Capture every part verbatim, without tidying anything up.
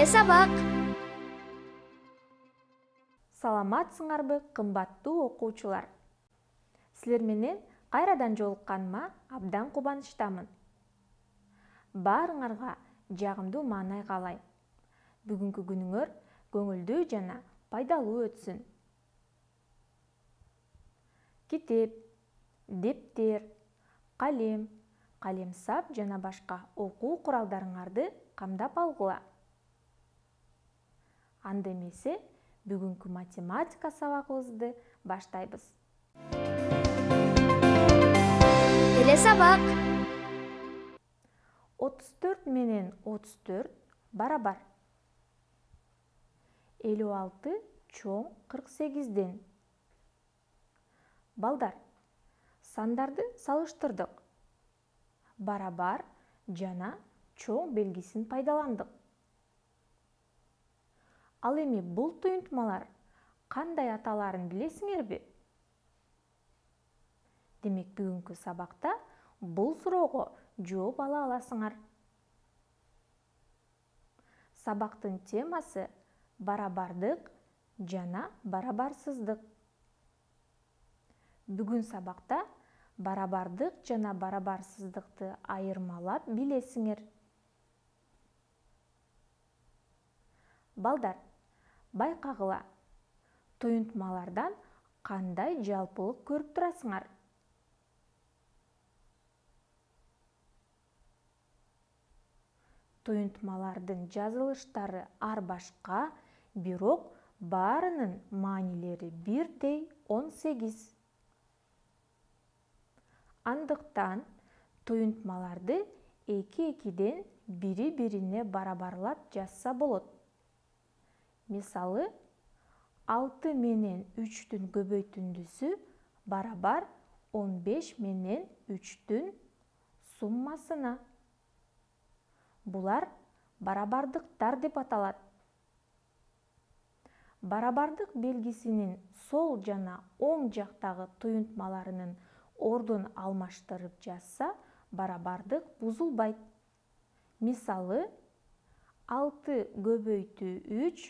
Эле сабак. Саламатсыңарбы, кымбаттуу окуучулар? Силер менен кайрадан жолукканыма абдан кубанычтамын. Баарыңарга жагымдуу маанай каалайм. Бүгүнкү күнүңөр көңүлдүү жана пайдалуу өтсүн. Китеп, дептер, калем, калемсап жана башка окуу куралдарыңарды камдап алгыла. Анда эмесе, бүгүнкү математика сабагыбызды баштайбыз. Эле сабак. отуз төрт менен отуз төрт барабар. элүү алты чоң кырк сегизден. Балдар, сандарды салыштырдык. Барабар жана чоң белгисин пайдаландык. Ал эми бул туюнтмалар кандай аталарын билесиңерби? Демек, бүгүнкү сабакта бул суроого жооп ала аласыңар. Сабактын темасы барабардык жана барабарсыздык. Бүгүн сабакта барабардык жана барабарсыздыкты айырмалап билесиңер. Балдар, байкагыла, туюнтмалардан кандай жалпылык көрүп турасыңар? Туюнтмалардын жазылыштары ар башка, бирок баарынын маанилери бирдей он сегиз. Андыктан туюнтмаларды эки-экиден бири-бирине барабарлап жазса болот. Мисалы, алты менен үчтүн көбөйтүндүсү барабар он беш менен үчтүн суммасына. Булар барабардыктар деп аталат. Барабардык белгисинин сол жана оң жактагы туюнтмаларынын ордун алмаштырып жазса, барабардык бузулбайт. Мисалы, алты көбөйтүү үч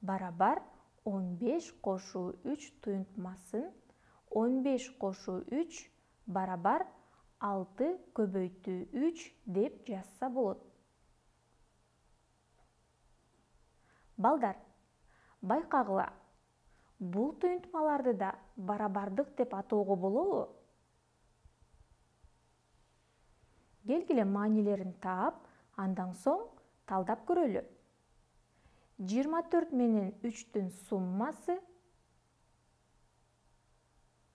барабар он беш кошуу үч туюнтмасын он беш кошуу үч барабар алты көбөйтүү үч деп жазса болот. Балдар, байкагыла, бул туюнтмаларды да барабардык деп атоого болобу? Келгиле маанилерин таап, андан соң талдап көрөлү. жыйырма төрт менен үчтүн суммасы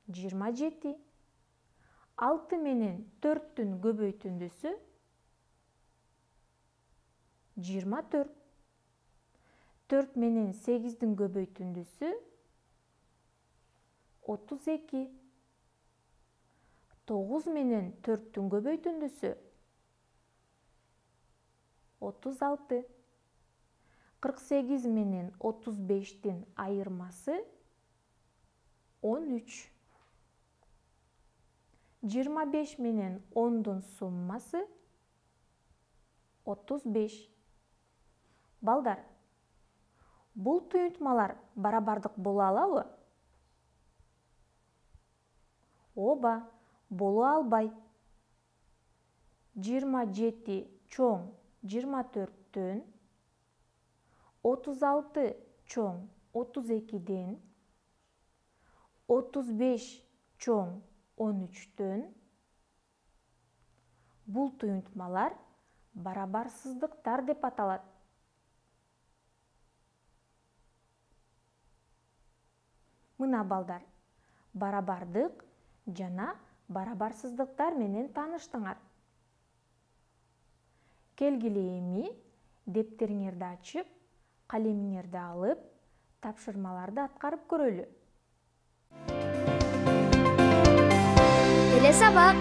жыйырма жети. алты менен төрттүн көбөйтүндүсү жыйырма төрт. төрт менен сегиздин көбөйтүндүсү отуз эки. тогуз менен төрттүн көбөйтүндүсү отуз алты. кырк сегиз менен отуз бештин айырмасы он үч. жыйырма беш менен ондун суммасы отуз беш. Балдар, бул туюнтмалар барабардык боло алабы? Ооба, боло албайт. жыйырма жети чоң жыйырма төрттөн, отуз алты чоң отуз экиден, отуз беш чоң он үчтөн. Бул туюнтмалар барабарсыздыктар деп аталат. Мына балдар, барабардык жана барабарсыздыктар менен тааныштыңар. Келгиле эми дептериңерди ачып, калемиңерди алып, тапшырмаларды аткарып көрөлү. Эле сабак.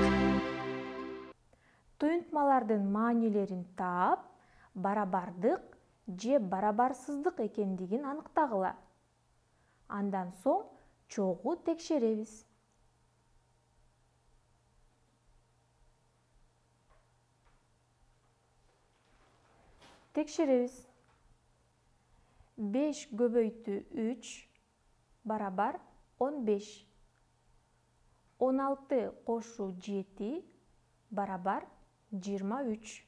Туюнтмалардын маанилерин таап, барабардык же барабарсыздык экендигин аныктагыла. Андан соң чогуу текшеребиз. Текшеребиз. беш көбөйтүү үч барабар он беш. он алты кошуу жети барабар жыйырма үч.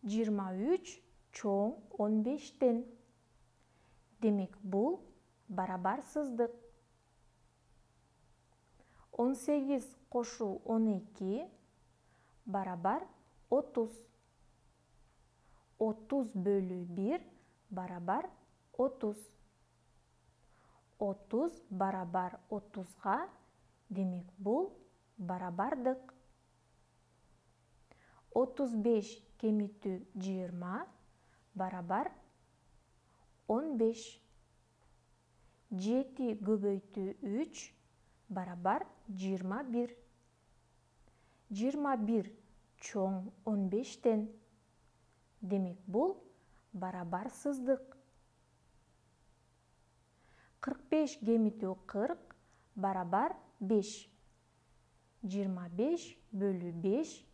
жыйырма үч чоң он бештен. Демек бул барабар сыздык. он сегиз кошуу он эки барабар отуз. отуз бөлүү бир барабар отуз. отуз барабар отузга, демек бул барабардык. отуз беш кемитүү жыйырма барабар он беш. жети көбөйтүү үч барабар жыйырма бир. жыйырма бир чоң он бештен. Демек бул барабар сыздык. кырк беш кемитүү кырк барабар беш. жыйырма беш бөлүү беш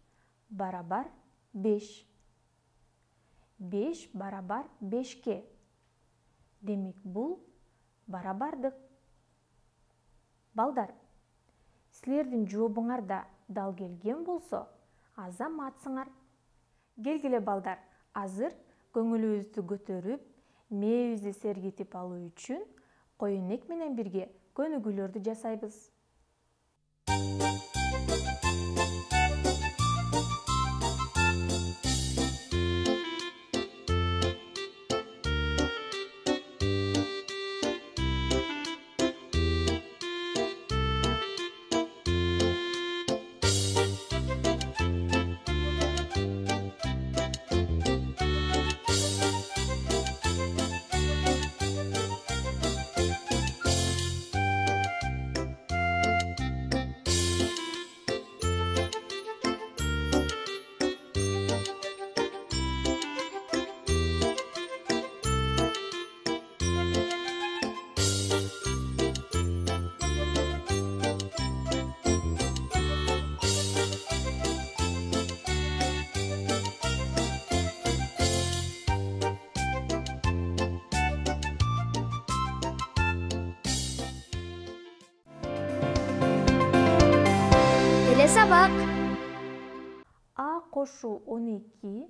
барабар беш. беш барабар бешке. Демек бул барабардык. Балдар, силердин жообуңар да дал келген болсо, азаматсыңар. Келгиле балдар, азыр көңүлүбүздү көтөрүп, мээбизди сергитип алуу үчүн коюнек менен бирге көнүгүүлөрдү жасайбыз. Эле сабак. А кошуу он эки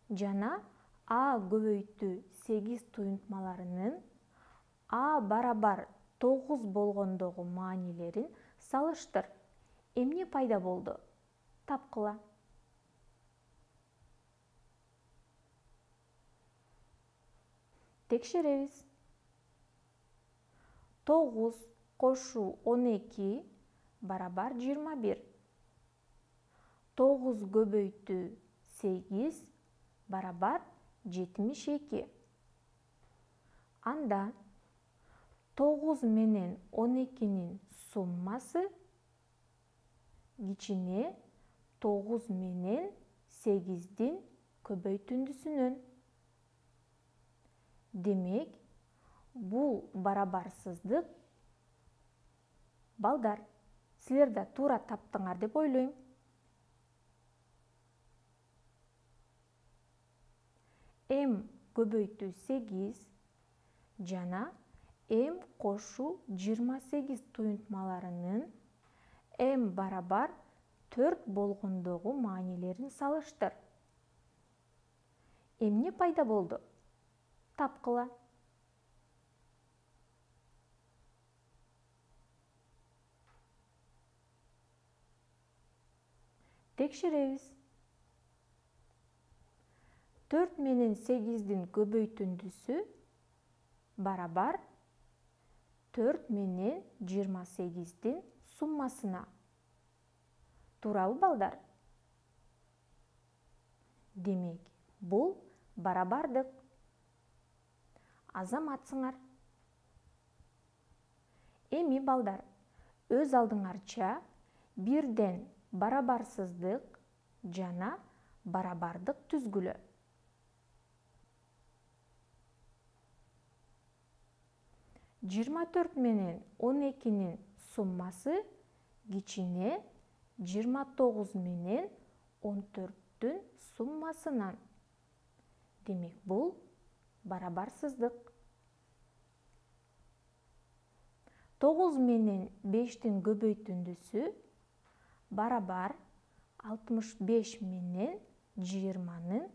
жана А көбөйтүү сегиз туюнтмаларынын А барабар тогуз болгондогу маанилерин салыштыр. Эмне пайда болду? Тапкыла. Текшеребиз. тогуз кошуу он эки барабар жыйырма бир. тогуз көбөйтүү сегиз барабар жетимиш эки. Анда тогуз менен он экинин суммасы кичине тогуз менен сегиздин көбөйтүндүсүнөн. Демек, бул барабарсыздык. Балдар, силер да туура таптыңар деп ойлойм. М көбөйтүү сегиз жана М кошуу жыйырма сегиз туюнтмаларынын М барабар төрт болгондогу маанилерин салыштыр. Эмне пайда болду? Тапкыла. Текшеребиз. төрт менен сегиздин көбөйтүндүсү барабар төрт менен жыйырма сегиздин суммасына. Туурабы, балдар? Демек, бул барабардык. Азаматсыңар. Эми, балдар, өз алдыңарча бирден барабарсыздык жана барабардык түзгүлө. жыйырма төрт менен он экинин суммасы кичине жыйырма тогуз менен он төрттүн суммасынан. Демек, бул барабарсыздык. тогуз менен бештин көбөйтүндүсү барабар алтымыш беш менен жыйырманын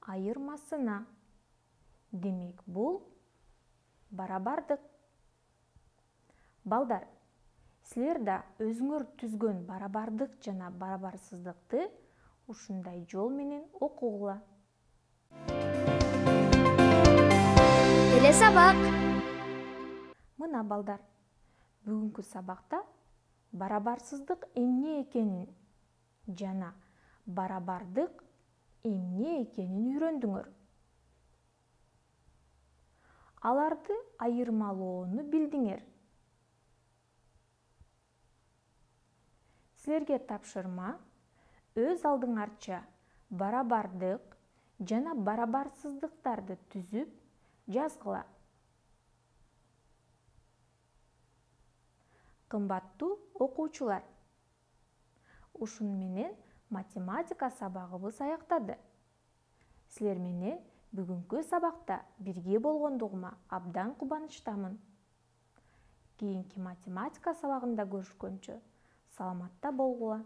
айырмасына. Демек, бул барабардык. Балдар, силер да өзүңөр түзгөн барабардык жана барабарсыздыкты ушундай жол менен окугула. Эле сабак. Мына балдар, бүгүнкү сабакта барабарсыздык эмне экенин жана барабардык эмне экенин үйрөндүңөр. Аларды айырмалоону билдиңер. Силерге тапшырма өз алдыңарча барабардык жана барабарсыздыктарды түзүп жазгыла. Кымбаттуу окуучулар, ушуну менен математика сабагыбыз аяктады. Силер менен бүгүнкү сабакта бирге болгондугума абдан кубанычтамын. Кийинки математика сабагында көрүшкөнчө саламатта болгула.